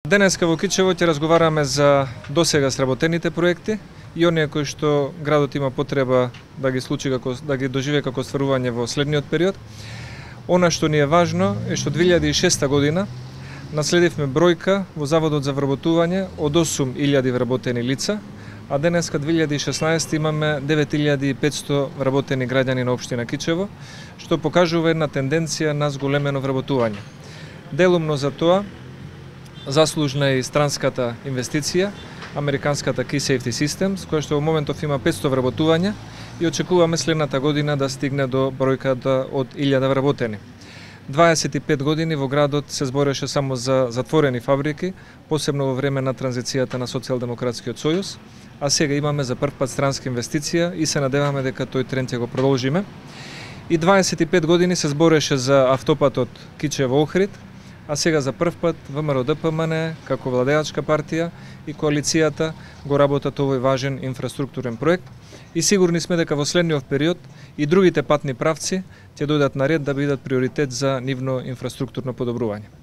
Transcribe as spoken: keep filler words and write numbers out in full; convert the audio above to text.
Денеска во Кичево ќе разговараме за досега сработените проекти и оние кои што градот има потреба да ги случи како да ги доживее како остварување во следниот период. Она што ни е важно е што две илјади и шеста година наследивме бројка во Заводот за вработување од осум илјади вработени лица, а денеска две илјади и шеснаесета имаме девет илјади и петсто вработени граѓани на општина Кичево, што покажува една тенденција на зголемено вработување. Делумно за тоа заслужна е и странската инвестиција, американската Key Safety Systems, која што во моментов има петсто вработувања и очекуваме следната година да стигне до бројката од илјада вработени. дваесет и пет години во градот се збореше само за затворени фабрики, посебно во време на транзицијата на Социјалдемократскиот сојуз, а сега имаме за прв пат странска инвестиција и се надеваме дека тој тренд ќе го продолжиме. И дваесет и пет години се збореше за автопатот Кичево-Охрид, а сега за прв пат ВМРО-ДПМН како владеачка партија и коалицијата го работат овој важен инфраструктурен проект и сигурни сме дека во следниот период и другите патни правци ќе дојдат на ред да бидат приоритет за нивно инфраструктурно подобрување.